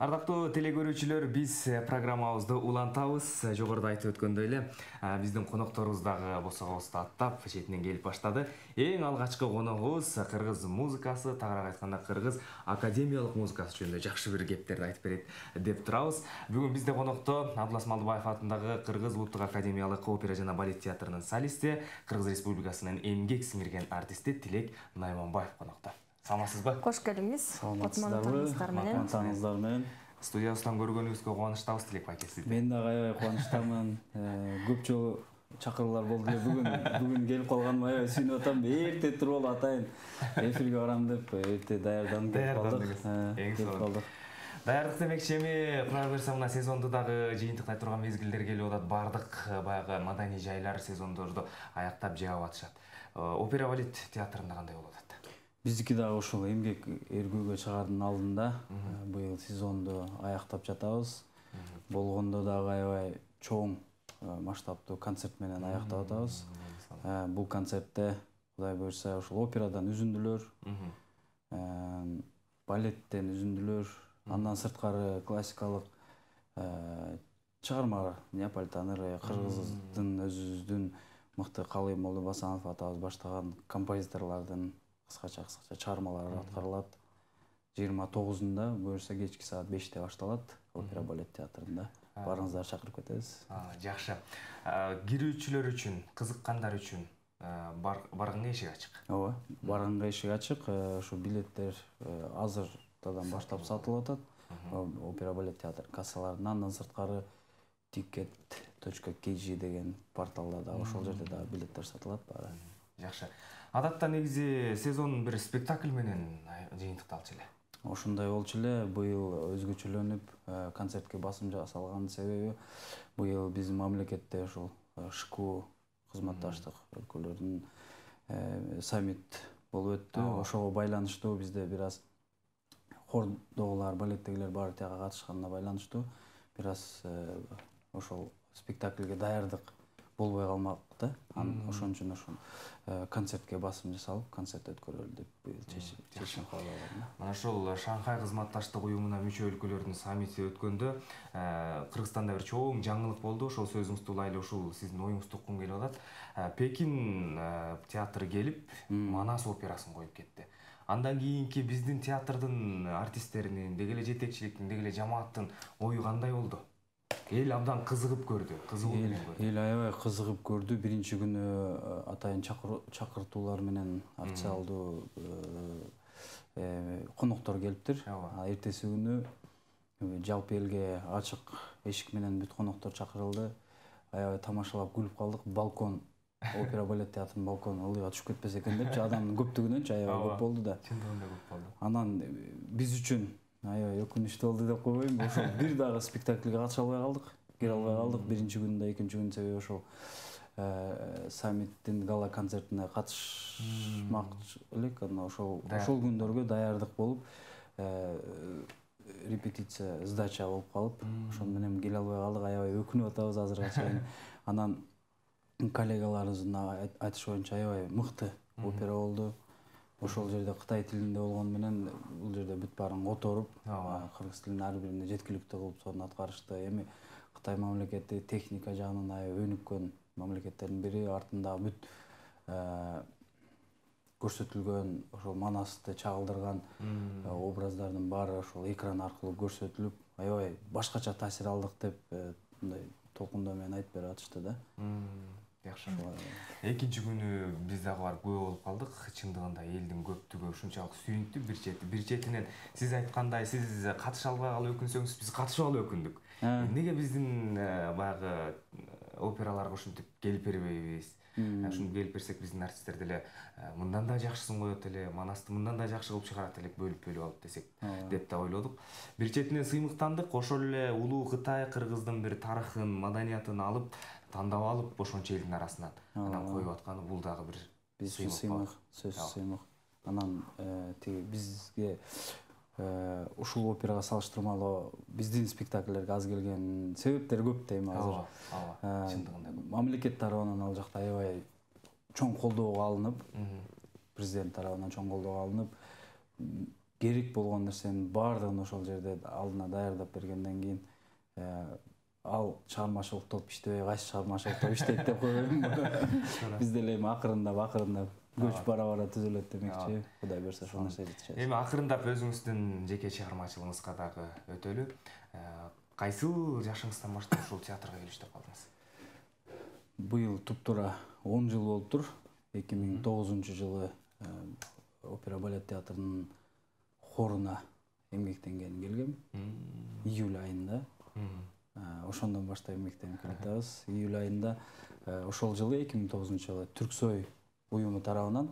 Ардактуу телекөрүүчүлөр, биз программабызды улантабыз. Жогоруда айтып өткөндөй эле, биздин конокторубуз дагы босогобузду аттап четинен келип баштады. Эң алгачкы коногубуз кыргыз музыкасы, тагыраак айтканда кыргыз академиялык музыкасы жөнүндө жакшы бир кептерди айтып берет деп турабыз. Бүгүн бизде конокто Абдулас Малдыбаев атындагы Кыргыз Улуттук академиялык опера жана балет театрынын солисти, Кыргыз Республикасынын эмгек сиңирген артисти Тилек Найманбаев конокто. Саламатсызбы? Кош келиңиз. Саламатсыздар менен. Студиябыздан көргөнүбүзгө кубанычтабыз, Тилек байке сизди. Мен дагы аябай кубанычтамын. Көп жолу чакыруулар болду эле. Бүгүн келип калганыма аябай сүйүнүп атам. Эрте туруп алып атайын. Эфирге барам деп эрте даярданып келип калдык. Даярдык демекчи, эми кура берсе мына сезонду дагы жыйынтыктай турган мезгилдер келип атат. Бардык баягы маданий жайлар сезондорду аяктап жаап атышат. Опера балет театрында кандай болуп атат? Биздики дагы ушул эмгек эргүүгө чыгаардын алдында быйыл сезонду аяктап жатабыз. Болгондо дагы аябай чоң масштабтуу концерт менен аяктап атабыз. Бул концертте Кудай буйрса ушул операдан үзүндүлөр, балеттен үзүндүлөр, андан сырткары классикалык чыгармалар, Неаполитан ыры, кыргыздын өзүбүздүн мыкты Калый Молду Басанов атабыз баштаган композиторлордун кыскача чыгармалары аткарылат. 29-нда буюрса кечки саат 5-те башталат опера балет театрында. Барыңыздарды чакырып кетебиз. Жакшы. Кирүүчүлөр үчүн, кызыккандар үчүн баргынга эшик ачык. Ооба, баргынга эшик ачык. Ушу билеттер азырдан баштап сатылып атат. Опера балет театр кассаларында, андан сырткары ticket.kg деген порталда да ошол жерде да билеттер сатылат баары. Жакшы. Адатта негизи сезон бир спектакль менен жыйынтыкталчу эле. Ошондой болчу эле. Быйыл өзгөчөлөнүп концертке басым жасалганын себеби быйыл биздин мамлекетте ушул ШКУ кызматташтык өлкөлөрүнүн саммит болуп өттү. Ошого байланыштуу бизде бир аз хордогулар, балеттегилер баары тияга катышканына байланыштуу бир аз ошол спектакльге даярдык болбой калмак да. Ошон үчүн ошол концертке басым жасалып, концерт өткөрөлү деп быйыл чечим кабыл алгам. Мына ошол Шанхай кызматташтык уюмуна мүчө өлкөлөрдүн саммити өткөндө Кыргызстанда бир чоң жаңылык болду. Ошол сөзүңүздү улайлы, ушул сиздин оюңузду туккум келип атат. Пекин театры келип, Манас операсын коюп кетти. Андан кийинки биздин театрдын артисттеринин, деги эле жетекчиликтин, деги эле жамааттын ою кандай болду? Эл абдан кызыгып көрдү, кызыгуу менен көрдү. Эл аябай кызыгып көрдү. Биринчи күнү атайын чакыртуулар менен официалдуу коноктор келиптир. Эртеси күнү жалпы элге ачык эшик менен бүт коноктор чакырылды. Аябай тамашалап күлүп калдык. Балкон, опера балет театрынын балкону ылдыйга түшүп кетпесе экен депчи, адамдын көптүгүнөнчү аябай көп болду да. Чындыгында көп болду. Анан биз үчүн аябай өкүнүчтүү болду деп койбойм. Ошол бир дагы спектакльге катыша албай калдык. Кире албай калдык. Биринчи күндө, экинчи күндө себеби ошол саммиттин гала концертине катышмак элек. Анан ошол күндөргө даярдык болуп, репетиция, сдача болуп калып, ошон менен келе албай калдык. Аябай өкүнүп атабыз азырга чейин. Анан коллегаларыбыздын айтышы боюнча аябай мыкты опера болду. Ошол жерде Кытай тилинде болгону менен бул жерде бүт баарын которуп, кыргыз тилин ар бирине жеткиликтүү кылып сонун аткарышты. Эми Кытай мамлекети техника жагынан аябай өнүккөн мамлекеттердин бири. Артында бүт көрсөтүлгөн ошол Манасты чагылдырган образдардын баары ошол экран аркылуу көрсөтүлүп, аябай башкача таасир алдык деп мындай толкундоо менен айтып берип атышты да. Жакшы. Экинчи күнү биз дагы барып күбө болуп калдык. Чындыгында элдин көптүгү ушунчалык сүйүнтү бир четинен. Сиз айткандай, сиз катыша албай калып өкүнсөңүз, биз катышып алып өкүндүк. Эмнеге биздин баягы операларга ушинтип келип бербейбиз? Ушинтип келип берсек биздин артисттер деле мындан да жакшысын коет эле, Манасты мындан да жакшы кылып чыгарат элек, бөлүп алып десек деп да ойлодук. Бир четинен сыймыктандык. Ошол эле улуу Кытай кыргыздын бир тарыхын, маданиятын алып, тандап алып ошончо элдин арасынан анан коюп атканы бул дагы бир сыймык, сөзсүз сыймык. Анан тиги бизге ушул операга салыштырмалуу биздин спектакльлерге аз келген себептер көп дейм азыр. Чындыгында мамлекет тарабынан ал жакта аябай чоң колдоого алынып, президент тарабынан чоң колдоого алынып, керек болгон нерсенин баардыгын ошол жерде алдына даярдап бергенден кийин ал чыгармачылык топ иштебей кайсы чыгармачылык топ иштейт деп койбойм. Биз деле эми акырындап көч бара түзүлөт демекчи. Кудай буюрса ошол нерсе жетишет. Эми акырындап өзүңүздүн жеке чыгармачылыгыңызга дагы өтөлү. Кайсыл жашыңыздан баштап ушул театрга келиштеп калдыңыз? Быйыл туп-туура 10 жыл болуптур. 2009-жылы опера балет театрынын хоруна эмгектенген келгем. Июль айында. Ошондон баштап эмгектенип келатабыз. Июль айында ошол жылы 2009-жылы Түрксой уюму тарабынан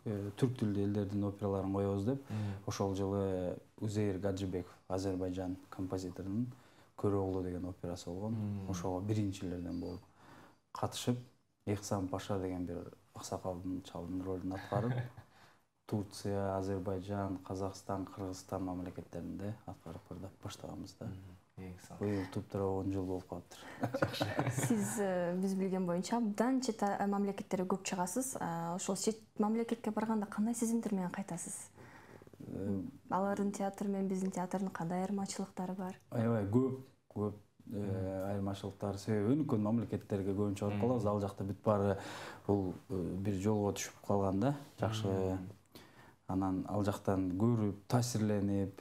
түрк тилдүү элдердин операларын коебуз деп, ошол жылы Узейр Гаджибеков, Азербайжан композиторунун Көрөглу деген операсы болгон. Ошого биринчилерден болуп катышып, Эхсан Паша деген бир аксакалдын чалдын ролун аткарып, Турция, Азербайжан, Казакстан, Кыргызстан мамлекеттеринде аткарып ырдап баштаганбыз да. Быйыл туп-туура 10 жыл болуп калыптыр. Сиз биз билген боюнча абдан чет мамлекеттерге көп чыгасыз. Ошол чет мамлекетке барганда кандай сезимдер менен кайтасыз? Алардын театры менен биздин театрдын кандай айырмачылыктары бар? Аябай көп айырмачылыктар. Себеби өнүккөн мамлекеттерге көбүнчө барып калабыз. Ал жакта бүт баары бул бир жолго түшүп калган да. Жакшы. Анан ал жактан көрүп, таасирленип,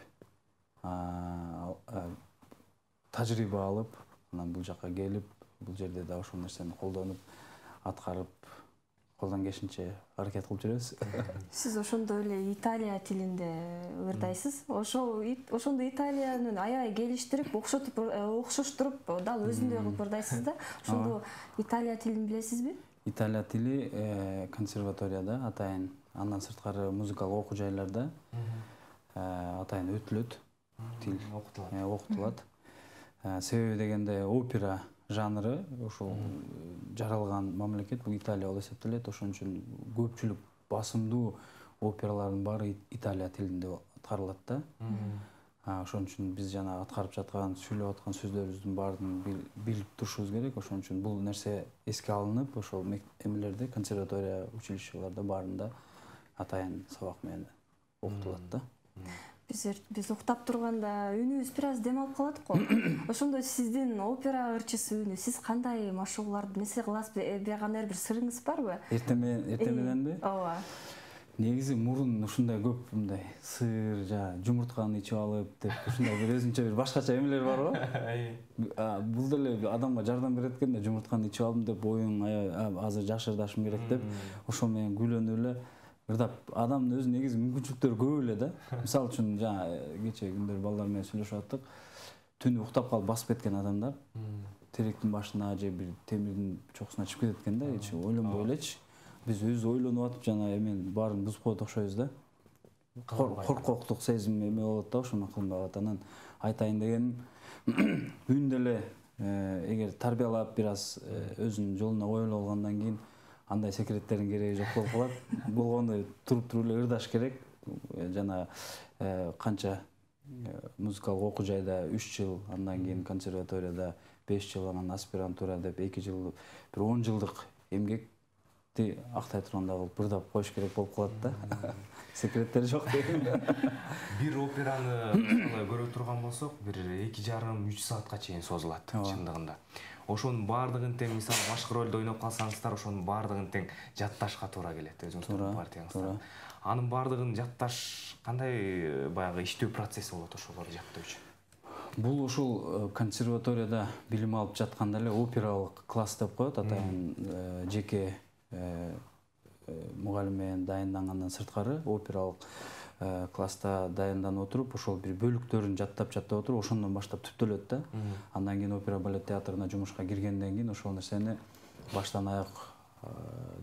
тажрыйба алып, анан бул жакка келип, бул жерде да ошол нерсени колдонуп, аткарып, колдон келишинче аракет кылып жүрөбүз. Сиз ошондой эле Италия тилинде ырдайсыз. Ошондо Италиянын аябай келиштирип, окшоштуруп, дал өзүндөй кылып ырдайсыз да. Ошондо Италия тилин билесизби? Италия тили консерваторияда атайын, андан сырткары музыкалык окуу жайларда атайын өтүлөт. Тил окутулат. Себеби дегенде опера жанры ошол жаралган мамлекет бул Италия болуп эсептелет. Ошон үчүн көпчүлүк басымдуу опералардын баары Италия тилинде аткарылат да. Ошон үчүн биз жана аткарып жаткан, сүйлөп аткан сөздөрүбүздүн баарын билип турушубуз керек. Ошон үчүн бул нерсе эске алынып, ошол эмелерде, консерватория, училищелерде баарында атайын сабак менен окутулат да. Биз уктап турганда үнүбүз бир аз дем алып калат го. Ошондо сиздин опера ырчысы үнү, сиз кандай машыгууларды нерсе кыласыз? Кандай бир сырыңыз барбы? Эртемененби? Ооба. Негизи мурун ушундай көп мындай сыр, жумуртканы ичип алып деп ушундай бир өзүнчө бир башкача эмелер бар го. Бул деле адамга жардам берет экен да, жумуртканы ичип алдым деп оюң азыр жашырдашым керек деп, ошол менен күйлөнүп эле ырдап, адамдын өзү негизи мүмкүнчүлүктөрү көп эле да. Мисалы үчүн кечээ күндөр балдар менен сүйлөшүп аттык. Түнү уктап калып басып кеткен адамдар теректин башына же бир темирдин чокусуна чыгып кетет экен да, эч ойлонбой элечи. Биз өзү ойлонуп атып жана эмен баарын бузуп коет окшойбуз да. Коркоктук сезим эме болот да, ошону кылмай атат. Анан айтайын дегеним, үн деле эгер тарбиялап бир аз өзүнүн жолуна коюлуп алгандан кийин андай секреттердин кереги жок болуп калат. Болгондо туруп эле ырдаш керек. Жана канча музыкалык окуу жайда 3 жыл, андан кийин консерваторияда 5 жыл, анан аспирантура деп 2 жыл, бир 10 жылдык эмгекти актай тургандай кылып ырдап коюш керек болуп калат да. Секреттери жок дейм. Бир операны мисалы көрө турган болсок, бир 2,5–3 саатка чейин созулат чындыгында. Ошонун баардыгын тең мисалы башкы ролдо ойноп калсаңыздар, ошонун баардыгын тең жатташка туура келет өзүңүздүн партияңызда. Анын баардыгын жатташ кандай баягы иштөө процесси болот ошолорду жаттоо үчүн? Бул ушул консерваторияда билим алып жатканда эле опералык класс деп коет, атайын жеке мугалим менен дайындангандан сырткары опералык класста даянданып отуруп, ошол бир бөлүктөрүн жаттап отуруп, ошондон баштап түптөлөт да. Андан кийин опера балет театрына жумушка киргенден кийин ошол нерсени баштан аяк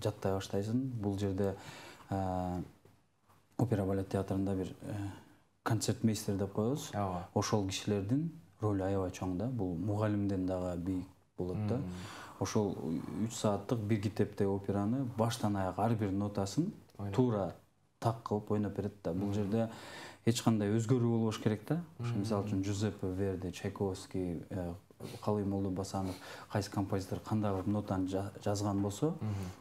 жаттай баштайсың. Бул жерде опера балет театрында бир концертмейстер деп коебуз. Ошол кишилердин ролу аябай чоң да. Бул мугалимден дагы бийик болот да. Ошол 3 сааттык бир китептеги операны баштан аяк ар бир нотасын туура так кылып ойноп берет да. Бул жерде эч кандай өзгөрүү болбош керек да. Мисалы үчүн Жузеппе Верди, Чайковский, Калыймолду Басанов кайсы композитор кандай кылып нотаны жазган болсо,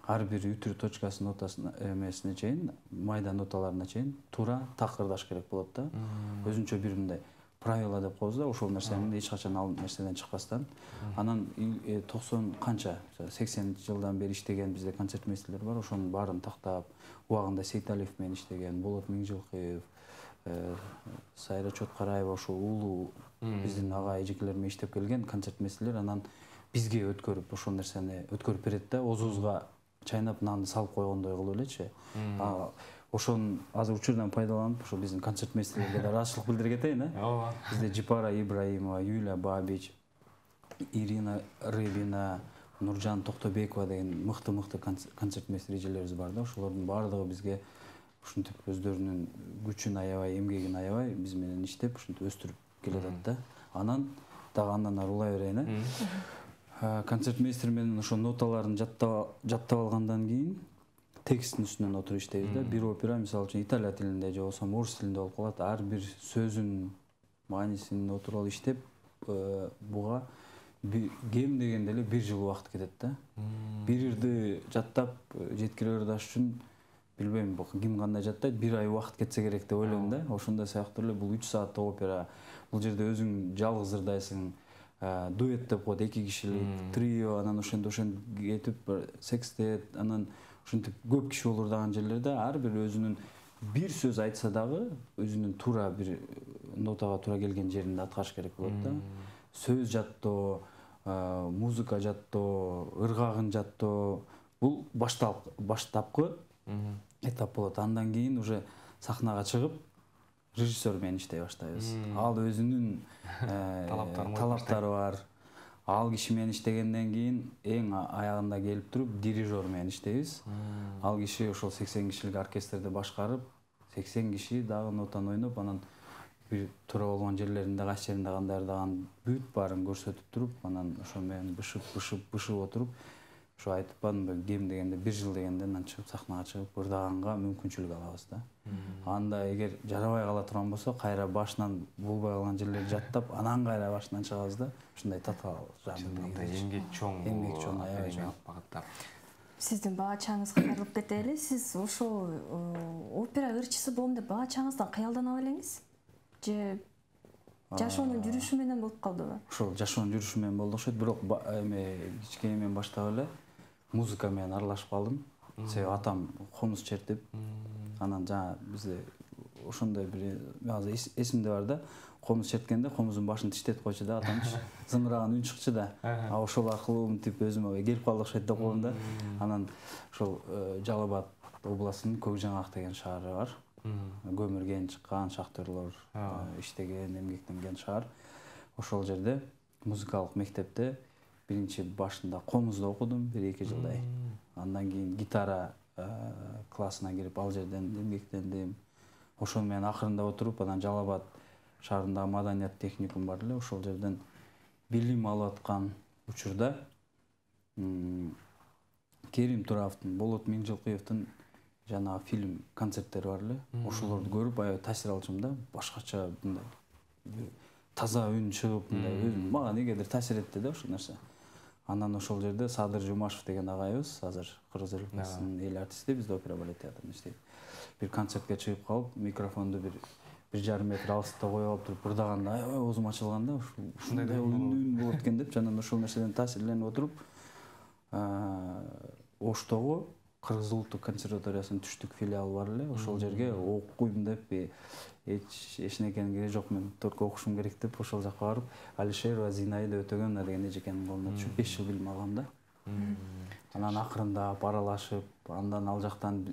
ар бир үтүр точкасы нотасына эмесине чейин, майда ноталарына чейин туура такырдаш керек болот да. Өзүнчө бир мындай правила деп коебуз да, ошол нерсени эч качан ал нерседен чыкпастан. Анан 90 канча 80-жылдан бери иштеген бизде концертмейстерлер бар, ошонун баарын тактап, убагында Сейталиев менен иштеген, Болот Миңжилкыев, Сайра Чоткараева, ошол улуу биздин ага эжекелер менен иштеп келген концертмейстерлер анан бизге өткөрүп ошол нерсени өткөрүп берет да, оозубузга чайнап нанды салып койгондой кылып элечи. Ошонун азыр учурдан пайдаланып, ошо биздин концертмейстерлерге да ыраазычылык билдире кетейин, Ооба. Бизде Жипара Ибраимова, Юлия Бабич, Ирина Рыбина, Нуржан Токтобекова деген мыкты концертмейстер эжелерибиз бар да. Ошолордун баардыгы бизге ушинтип өздөрүнүн күчүн аябай, эмгегин аябай биз менен иштеп, ушинтип өстүрүп келатат да. Анан дагы андан ары улай берейин, концертмейстер менен ошо ноталарын жаттап алгандан кийин тексттин үстүнөн отуруп иштейбиз да. Бир опера мисалы үчүн италия тилинде же болбосо орус тилинде болуп калат. Ар бир сөзүн маанисин отуруп алып иштеп, буга кем дегенде эле 1 жыл убакыт кетет да. Бир ирди жаттап жеткире ырдаш үчүн билбейм, ким кандай жаттайт, 1 ай убакыт кетсе керек деп ойлойм да. Ошондой сыяктуу эле бул 3 сааттык опера. Бул жерде өзүң жалгыз ырдайсың, дуэт деп коет, 2 кишилик, трио, анан ошентип кетип, секстет, анан ушинтип көп киши болуп ырдаган жерлерде ар бир өзүнүн бир сөз айтса дагы өзүнүн туура бир нотага туура келген жеринде аткарыш керек болот да. Сөз жаттоо, музыка жаттоо, ыргагын жаттоо, бул баштапкы этап болот. Андан кийин уже сахнага чыгып режиссер менен иштей баштайбыз. Ал өзүнүн талаптары бар. Ал киши менен иштегенден кийин эң аягында келип туруп дирижер менен иштейбиз. Ал киши ошол 80 кишилик оркестрди башкарып, 80 киши дагы нотаны ойноп, анан бир туура болгон жерлеринде кайсы жеринде кандай ырдаган бүт баарын көрсөтүп туруп, анан ошо менен бышып отуруп, ошо айтып бардым, кем дегенде 1 жыл дегенде анан чыгып сахнага чыгып ырдаганга мүмкүнчүлүк алабыз да. Анда эгер жарабай кала турган болсо, кайра башынан болбой калган жерлерди жаттап, анан кайра башынан чыгабыз да. Ушундай татаал жанында эмгек чоң аябай чоң. Сиздин баа чагыңызга кайрылып кетели. Сиз ошол опера ырчысы болом деп баа чагыңыздан кыялдана белеңиз? Же жашоонун жүрүшү менен болуп калдыбы? Ошол жашоонун жүрүшү менен болду окшойт, бирок кичинекеймен баштап эле музыка менен аралашып калдым. Себеби атам комуз чертип, анан жана бизде ошондой бир азыр эсимде бар да, комуз черткенде комуздун башын тиштетип койчу да атамчы, зыңгыраган үн чыкчу да. Ошол аркылуу мынтип өзүмө келип калды окшойт деп коем да. Анан ошол Жалал Абад областынын Көк Жаңак деген шаары бар. Көмүрген чыккан шахтерлор иштеген, эмгектенген шаар. Ошол жерде музыкалык мектепте биринчи башында комузда окудум 1-2 жылдай. Андан кийин гитара классына кирип ал жерден эмгектендим. Ошол менен акырында отуруп, анан Жалал Абад шаарындагы маданият техникум бар эле, ошол жерден билим алып аткан учурда Керим Туравдын, Болот Миңжилкыевдин жана фильм концерттери бар эле. Ошолорду көрүп аябай таасир алчумун да. Башкача мындай таза үн чыгып, мындай мага негедир таасир этти да ошол нерсе. Анан ошол жерде Садыр Жумашев деген агайыбыз, азыр Кыргыз Республикасынын эл артисти, бизде опера балет театрында иштейт. Бир концертке чыгып калып, микрофонду 1,5 метр алыста коюп алып туруп ырдаганда аябай оозум ачылган да, ушундай үн болот экен деп, анан ошол нерседен таасирленип отуруп, Оштогу Кыргыз улуттук консерваториясынын түштүк филиалы бар эле, ошол жерге окуйм деп, эчнекенин кереги жок, мен только окушум керек деп ошол жака барып, Алишерова Зинаида Өтөгөнова деген эжекенин колуна түшүп 5 жыл билим алгам да. Анан акырындап аралашып, андан ал жактан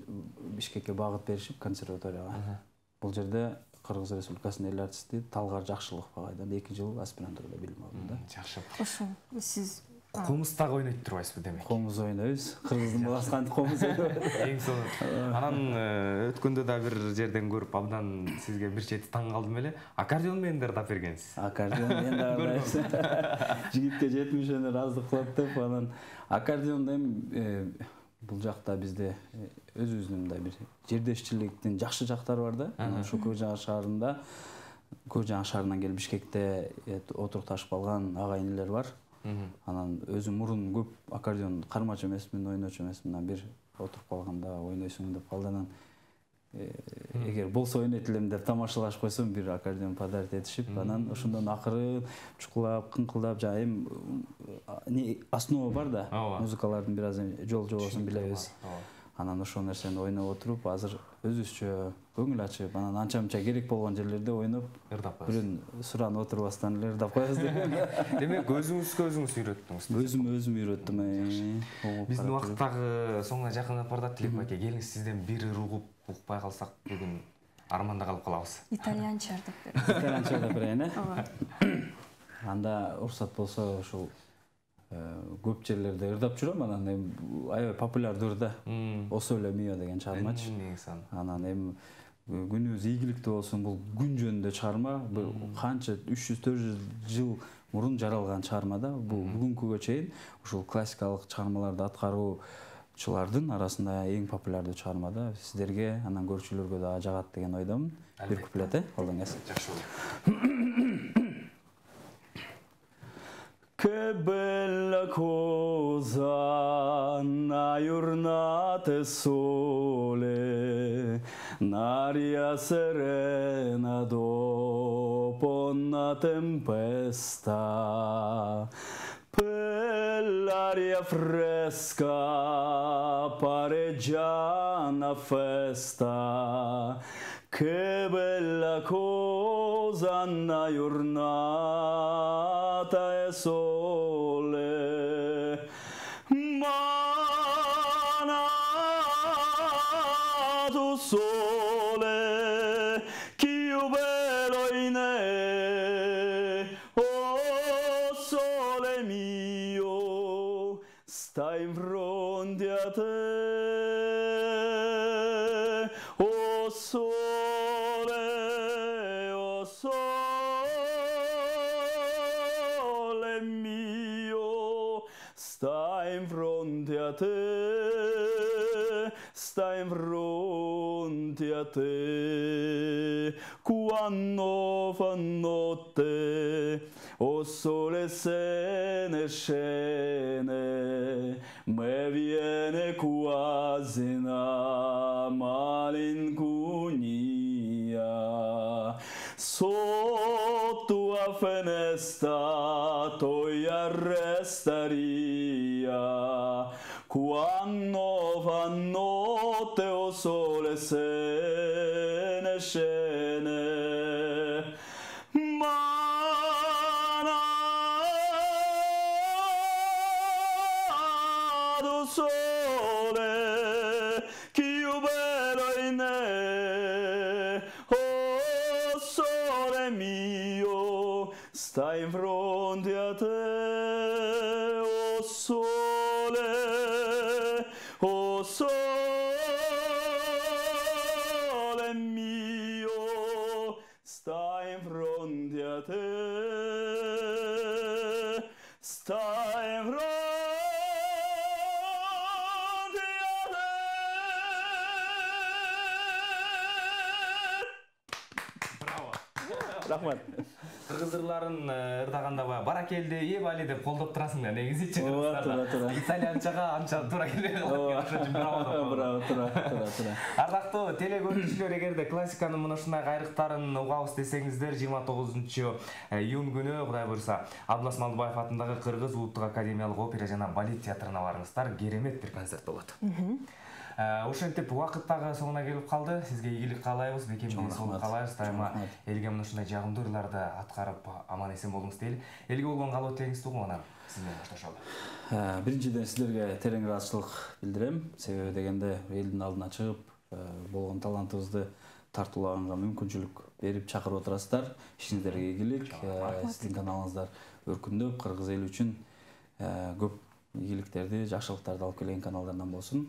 Бишкекке багыт беришип консерваторияга. Бул жерде Кыргыз Республикасынын эл артисти Талгар Жакшылыков агайдан 2 жыл аспирантурада билим алдым да. Жакшы. Ошо сиз Комуз дагы ойнойт турбайсызбы демек? Комуз ойнойбуз. Кыргыздын баласы кантип комуз ойнойт? Эң сонун. Анан өткөндө да бир жерден көрүп, абдан сизге бир чети таң калдым эле. Аккордеон менен да ырдап бергенсиз. Аккордеон менен да ырдайбыз. Жигитке жетмишени ыраздык кылат деп, анан аккордеондо эми бул жакта бизде өзүбүздүн мындай бир жердешчиликтин жакшы жактары бар да. Ошо Көк Жаңак шаарында Көжаң шаарынан келип Бишкекте отурукташып калган ага-инилер бар. Анан өзүм мурун көп аккордеон кармачу эмесмин, ойночу эмесмин. Анан бир отуруп калганда ойнойсуң деп калды. Анан эгер болсо ойнойт элем деп тамашалашып койсом, бир аккордеон подарить этишип, анан ошондон акырын чукулап, кыңкылдап, жана эми основа бар да, музыкалардын бир аз жол жобосун билебиз. Анан ошол нерсени ойноп отуруп, азыр өзүбүзчө көңүл ачып, анан анча-мынча керек болгон жерлерде ойноп, ырдап коесуз. бирөөнү суранып отурбастан эле ырдап коебуз деп. Демек өзүңүзгө өзүңүз үйрөттүңүз. Өзүм үйрөттүм. Биздин убакыттагы соңуна жакындап бардат. Тилек байке, келиңиз сизден бир ыр укпай калсак бүгүн арманда калып калабыз. Итальянча ырдап бериңиз. Итальянча ырдап берейин, Анда уруксат болсо ушул көп жерлерде ырдап жүрөм, анан эми аябай популярдуу ырда. O Sole Mio деген чыгармачы. Анан эми күнүбүз ийгиликтүү болсун, бул күн жөнүндө чыгарма, канча 300-400 жыл мурун жаралган чыгарма да. Бул бүгүнкүгө чейин ушул классикалык чыгармаларды аткаруучулардын арасында эң популярдуу чыгарма да. Сиздерге, анан көрүүчүлөргө да жагат деген ойдомун. Бир куплет, алдыңыз. Жакшы болот. Che bella cosa una giornata sole, un'aria serena dopo una tempesta, per l'aria fresca pareggia una festa. Che bella cosa una giornata e sole, manato sole, che bello in oh sole mio, stai in fronte a te, oh sole. Sta in fronte a te, sta in fronte a te, quando fa notte, o sole se ne scende, me viene quasi una malinconia, sotto a finestra tu arrestaria, quando fa notte o sole se ne scende, manato sole, che io bello in oh sole mio, sta in fronte a te, oh sole, oh sole mio, sta in fronte a te, sta in fronte a te. Рахмат. Кыргыз ырларын ырдаганда баракелди, ебали деп колдоп турасың да, негизичи. Туура. Итальянчага анча туура келбей калат. Браво. Ардактуу теле көрүүчүлөр, эгерде классиканын мына ушундай кайрыктарын угабыз десеңиздер, 29-июнь күнү, Кудай буйруса, Абдулас Малдыбаев атындагы Кыргыз Улуттук академиялык опера жана балет театрына барыңыздар. Керемет бир концерт болот. Ошентип убакыттагы соңуна келип калды. Сизге ийгилик каалайбыз, бекемдик соолук каалайбыз. Дайыма элге мына ушундай жагымдуу ырларды аткарып аман-эсен болуңуз дейли. Элге болгон каалоо теңиздүү, анан сиз менен башташалы. Биринчиден сиздерге терең ыраазычылык билдирем. Себеби дегенде элдин алдына чыгып, болгон талантыбызды тартуулаганга мүмкүнчүлүк берип чакырып отурасыздар. Ишиңиздерге ийгилик. Сиздин каналыңыздар өркүндөп, кыргыз эли үчүн көп ийгиликтерди, жакшылыктарды алып келген каналдардан болсун.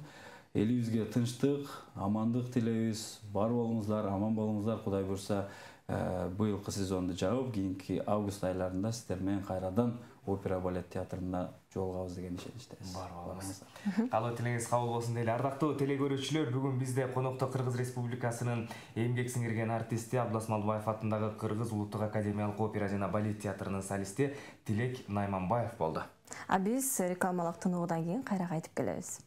Элибизге тынчтык, амандык тилейбиз. Бар болуңуздар, аман болуңуздар. Кудай буйруса, быйылкы сезонду жаап, кийинки август айларында сиздер менен кайрадан опера балет театрында жолугабыз деген ишеничтебиз. Бар болобуз. Каалоо тилиңиз кабыл болсун дейли. Ардактуу телекөрүүчүлөр, бүгүн бизде конокто Кыргыз Республикасынын эмгек сиңирген артисти Абдулас Малдыбаев атындагы Кыргыз Улуттук академиялык опера жана балет театрынын солисти Тилек Найманбаев болду. А биз рекламалык тынуудан кийин кайра кайтып келебиз.